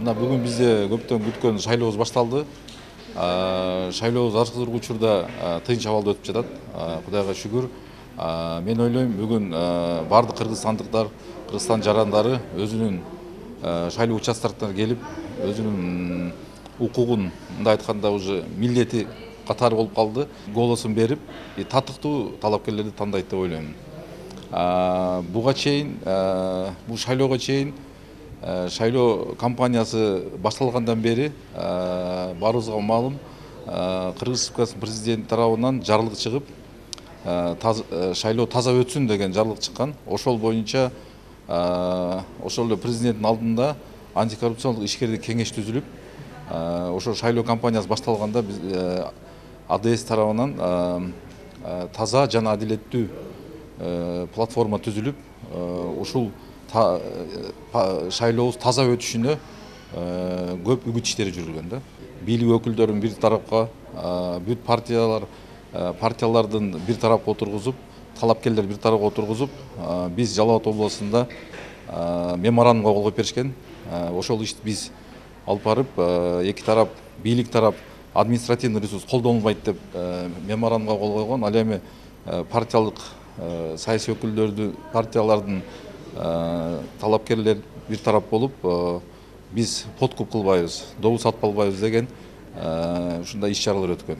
Мына бүгүн бизде көптөн күткөн шайлообуз башталды. Шайлообуз азыркы учурда тынч абалда өтүп жатат. Кудайга шүгүр. Мен ойлойм, бүгүн бардык кыргызстандыктар, Кыргызстан жарандары өзүнүн шайлоо участкаларына келип, өзүнүн укугун, мындай айтканда, уже милдети катары болуп калды. Голосун берип, татыктуу талапкерлерди тандайт деп ойлойм. Буга чейин, бул шайлоого чейин шайлоо кампаниясы башталгандан бери баарыбызга маалым, Кыргыз Республикасынын президенти тарабынан жарлык чыгып, шайлоо таза өтсүн деген жарлык чыккан. Ошол боюнча ошол эле президенттин алдында антикоррупциялык ишкердик кеңеш түзүлүп, ошо шайлоо кампаниясы башталганда биз АДС тарабынан таза жана адилеттүү платформа түзүлүп, ушул шайлообуз таза өтүшүнө көп үгүт иштери жүргүлгөн да. Бийлик өкүлдөрүн бир тарапка, бүт партиялардын бир тарапка отургузуп, талапкерлер бир тарапка отургузуп, биз Жалал Абад областында меморандумга кол коюп беришкен. Ошол ишти биз алып барып, эки тарап, бийлик тарап административный ресурс колдонулбайт деп меморандумга кол койгон. Ал эми партиялык саясий өкүлдөрдү, партиялардын талапкерлер бир тарап болуп, биз подкуп кылбайбыз, добус сатып албайбыз деген ушундай иш чаралар өткөн.